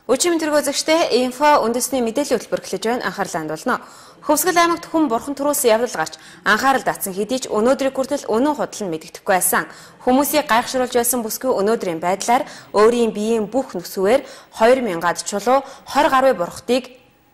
Өчигдөр тэргүүзэгчтэй инфо үндэсний мэдээллийн хөтөлбөр эхлэж байна. Анхаарлаа хандуулна. Хөвсгөл аймагт хүн бурхан төрөөс явдал гарч анхаарал татсан хэдий ч өнөөдрийн хүртэл үнэн худал нь мэдэгдэхгүй байсан. Хүмүүсийг гайхшруулж байсан бүсгүй өнөөдрийн байдлаар өөрийн биеийн бүх нүсвээр 2000-аад чулуу 20 гаруй бурхтыг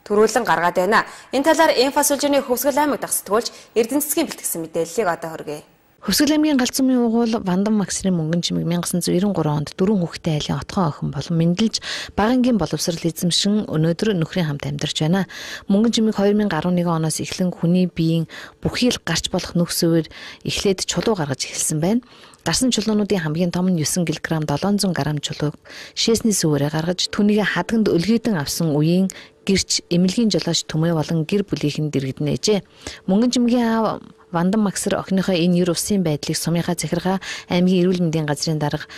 төрүүлэн гаргаад байна. Энэ талаар инфо сүлжээний Хөвсгөл аймаг дахь сэтгүүлч Эрдэнэ цэцгийн бэлтгэсэн мэдээллийг одоо хүргэе. Хөвсгөл аймгийн Галзуумын угуул Вандан Максрын мөнгөн чимэг 1993 онд 4 хүүхэдтэй айлын отгоо охин болон мэндэлж багангийн боловсрал эзэмшин өнөөдөр нөхрийн хамт амьдарч байна. Мөнгөн чимэг 2011 оноос эхлэн хүний биеийн бүхий л гарч болох нүхсээр эхлээд чулуу гаргаж эхэлсэн байна. Гарсан чулуунуудын хамгийн том нь 9 кг 700 г чулууг шээсний сүвээрээ гаргаж түүнийг хадганд өлгийдэн авсан үеийн гэрч эмнэлгийн жолооч Түмээ болон гэр бүлийнхэн дэргэднээжээ. Мөнгөн чимгийн аав Вандан Максэр охиныхоо энэ ер усын байдлыг сумынхаа захиргаа аймгийн эрүүл мэндийн газрын дарга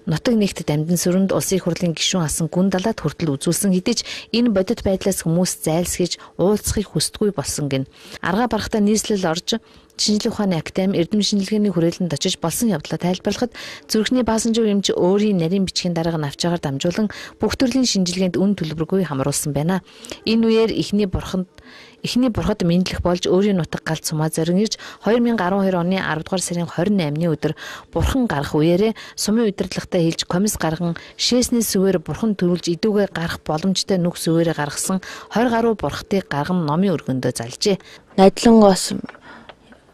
нутаг нэгтэд амьдан сүрэнд улсын их хурлын гишүүн асан гүн далаад хүртэл үзүүлсэн хэдий ч энэ бодит байдлаас хүмүүс зайлсхийж уулзахыг хүсдэггүй болсон гин. Аргаа барахтаа нийслэл орж шинжлэх ухааны академи эрдэм шинжилгээний хүрээлэнд очиж болсон явдлаа тайлбарлахад зүрхний баасан жив эмч өөрийн нарийн бичгийн дарга навчаагаар дамжуулан бүх төрлийн шинжилгээнд үн төлбөргүй хамруулсан байна. Энэ үеэр эхний бурхад мэдлэх болж өөрийн нутаг галт сумаа зорин ирж 2012 оны 10 дугаар сарын 28-ны өдөр бурхан гарах үеэрээ сумын удирдлагатай хэлж комисс гарган шээсний сүвээр бурхан төрүүлж идүүгээ гарах боломжтой нүх сүвээрээ гаргасан 20 гаруй бурхтыг гарган номын өргөндөө залжээ. Найдлангоос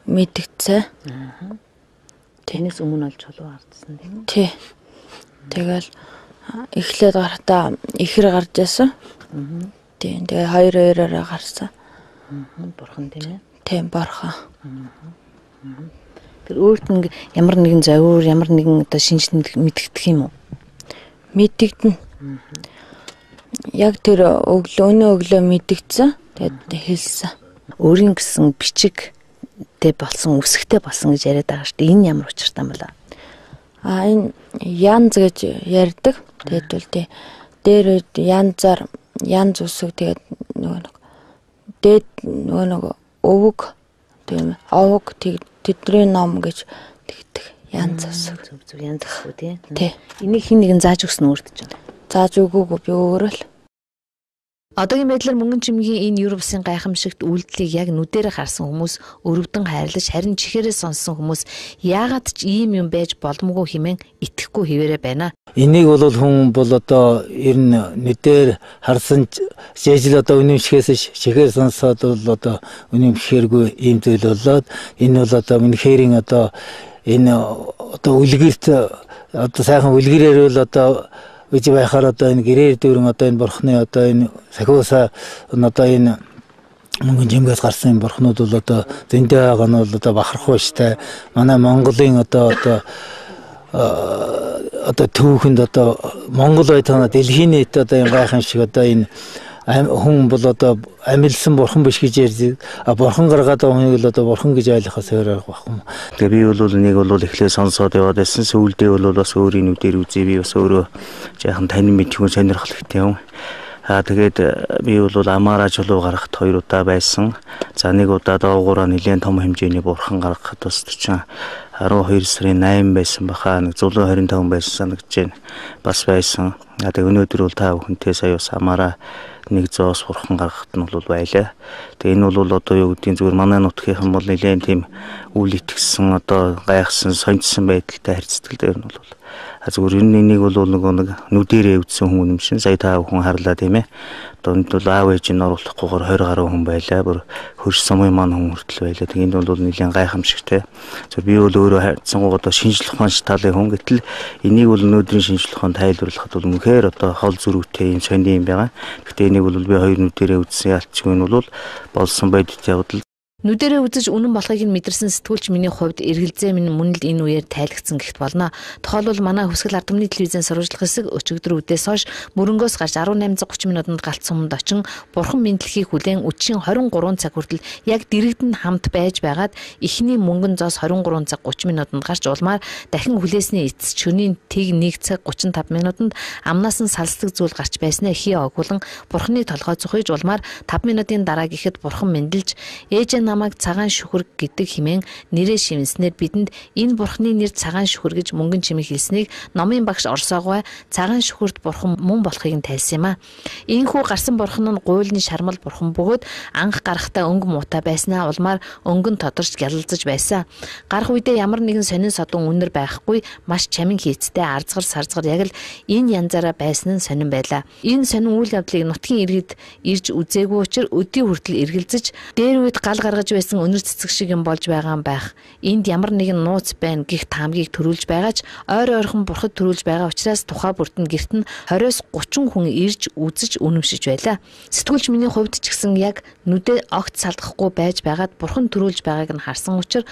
мэдгцээ. Тэнэс өмнө олж чулуу хардсан тийм үү? Тий. Тэгэл эхлээд гарахтаа ихэр гарч яасан. Тийм. Тэгээ хоёр-хоёроо гарсан. Бурхан тийм ээ. Тийм бурхан. Тэр өөрт нь ямар нэгэн зовир, ямар нэгэн одоо шинжлэх мэдгдэх юм уу? Мэдгдэн. Яг тэр өглөө мэдгдсэн. Тэгээд хэлсэн. Өөрийн гэсэн бичиг тэ болсон, үсгтэй болсон гэж яриад байгаа шүү дээ. Энэ ямар учиртай юм бэ? Энэ янз гэж ярьдаг. Тэгээд бол тий. Дээр янз үсэг тэгээд дээд өвөг тийм овог тэдний ном гэж тэгдэг янз үсэг. Зөв янз үсэг тий. Энийг хин нэгэн зааж өгсөн өөрт ч байна. Зааж өгөөгүй би өөрөө л. Одоогийн байдлаар мөнгөн чимгийн энэ Европсын гайхамшигт үйлдэлийг яг нүдэрэ харсан хүмүүс өрөвдөн хайрлаж харин чихээрээ сонсон хүмүүс яагаад ч ийм юм байж боломгүй хэмээн итгэхгүй хിവэрэ байна. Энийг бол хүн бол одоо ер нь нүдээр харсан жижил одоо үнэмшихээс чихээр сонсоод бол одоо үнэмшихэргүй ийм зүйл болоод энэ бол одоо үнэхэрийн одоо энэ одоо үлгэрт одоо сайхан үлгэрээр бол одоо үгүй байхаар одоо энэ гэрээр дүүрэн одоо энэ бурхны одоо энэ сахиусаа одоо энэ мөнгөн жимгээс гарсан бурхнууд бол одоо зөндөө байгаа нь бол одоо бахархуу штэ. Манай Монголын одоо түүхэнд одоо Монгол байтана дэлхийн нийт одоо энэ гайхамшиг одоо энэ хүн бол одоо амилсан бурхан биш гэж ярьж бурхан гаргаад байгаа хүнийг л одоо бурхан гэж ойлгохоос өөр арга байхгүй юм. Тэгээ би бол нэг бол эхлээ сонсоод яваад байсан. Сүүлдээ бол бас өөрийн нүдээр үзээ би бас өөрөө жаахан танин мэдхүүн сонирхолтой юм. Тэгээд би бол амаараа чулуу гаргахад 2 удаа байсан. За нэг удаа доогоороо нэлээд том хэмжээний бурхан гаргахад бас 12 сарын 8 байсан баха. Нэг 125 байсан санагдаж байна. Бас байсан. Тэгээд өнөөдөр бол та бүхэнтэй сая бас амаараа 100-аас бурхан гаргахад нь бол байлаа. Тэгээ энэ бол одоо юу гэдгийг зүгээр манай нутгийнхан бол нэлээд тийм үл итгэсэн одоо гайхсан сонирхсан байдалтай харьцдаг дээр нь бол зүгээр энийг бол нэг нүдэрээ үзсэн хүн юм шин сая та бүхэн харлаа тийм ээ. Одоо энэ бол аав ээж нь оруулахгүйгээр 20 гаруй хүн байлаа. Бүр хөрш сумын маань хүн хүртэл байлаа. Тэгээ энэ бол нэлээд гайхамшигтай. Зөв би бол өөрөө хайцсангуу одоо шинжлэх ухааны талын хүн гэтэл энийг бол өнөөдрийн шинжлэх ухаанд тайлбарлахад бол үнэхээр одоо хол зүрхтэй юм сони юм байгаа. Гэхдээ энийг бол би хоёр нүдэрээ үзсэн ялчгүй нь бол болсон байдалтай явдал. Нүдэрээ үзэж үнэн болохыг нь мэдэрсэн сэтгүүлч миний хувьд эргэлзээ минь мөн л энэ үеэр тайлгдсан гихт болно. Тухайлбал манай Хөвсгөл ард түмний телевизэн сурвалжлах хэсэг өчигдөр үдээс хойш мөрөнгөөс гарч 18:30 минутанд Галзуумд очин бурхан мэдлэхийг хүлээн өчийн 23 цаг хүртэл яг дэрэгдэн хамт байж байгаад эхний мөнгөн зоос 23 цаг 30 минутанд гарч улмаар дахин хүлээсний эцэс шөнийн тэг 1 цаг 35 минутанд амнаас нь салсдаг зүйл гарч байснаа хий огуулан бурханы толгой цухиж улмаар 5 минутын дараа гэхэд бурхан мэндэлж ээж намайг цагаан шүхэр гэдэг хэмээн нэрээ шивнэснээр бидэнд энэ бурхны нэр цагаан шүхэр гэж мөнгөн чимэг хэлснийг номын багш Орсоогой цагаан шүхэрд бурхан мөн болохыг нь тайлсан юм а. Ийхүү гарсан бурхан нь гуйлны шармал бурхан бөгөөд анх гарахтаа өнгө муутай байснаа улмаар өнгөн тодорч гялалзаж байсан. Гарах үедээ ямар нэгэн сонин содон үнэр байхгүй маш чамин хийцтэй арзгар сарзгар яг л энэ янзаараа байсан нь сонин байлаа. Энэ сонин үйл явдлыг нутгийн иргэд ирж үзээгүй учраас өдий хүртэл эргэлзэж дээр үед гал гаргаж байсан өнөр цэцэг шиг юм болж байгаа юм байх. Энд ямар нэгэн нууц байна гэх таамгийг төрүүлж байгаач ойр ойрхон бурхад төрүүлж байгаа учраас тухай бүртэн гэрт нь 20-30 хүн ирж үзэж үнэмшиж байлаа. Сэтгүүлч миний хувьд ч гэсэн яг нүдээ огт салдахгүй байж байгаад бурхан төрүүлж байгааг нь харсан учраас